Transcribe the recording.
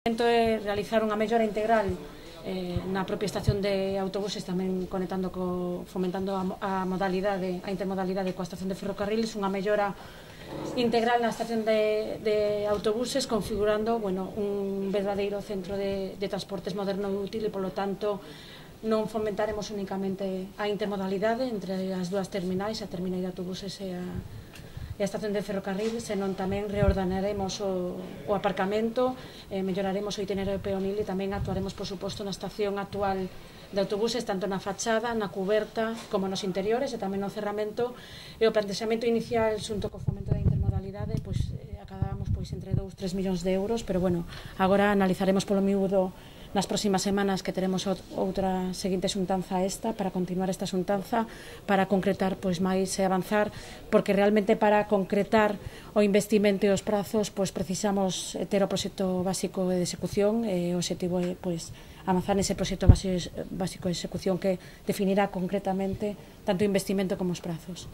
Realizar unha mellora integral na propia estación de autobuses, tamén conectando fomentando a intermodalidade coa estación de ferrocarriles, unha mellora integral na estación de autobuses, configurando un verdadeiro centro de transportes moderno e útil, e polo tanto non fomentaremos únicamente a intermodalidade entre as dúas terminais, a terminal de autobuses e a estación de ferrocarril, senón tamén reordenaremos o aparcamento, melloraremos o itinerario peonil e tamén actuaremos, por suposto, na estación actual de autobuses, tanto na fachada, na cuberta, como nos interiores, e tamén no cerramento. E o plantexamento inicial, xunto co fomento da intermodalidade, acabamos entre 2 e 3 millóns de euros, pero agora analizaremos polo miúdo nas próximas semanas, que teremos outra seguinte xuntanza para continuar esta xuntanza, para concretar máis e avanzar, porque realmente para concretar o investimento e os prazos precisamos ter o proxecto básico de execución, e o objetivo é avanzar nese proxecto básico de execución que definirá concretamente tanto o investimento como os prazos.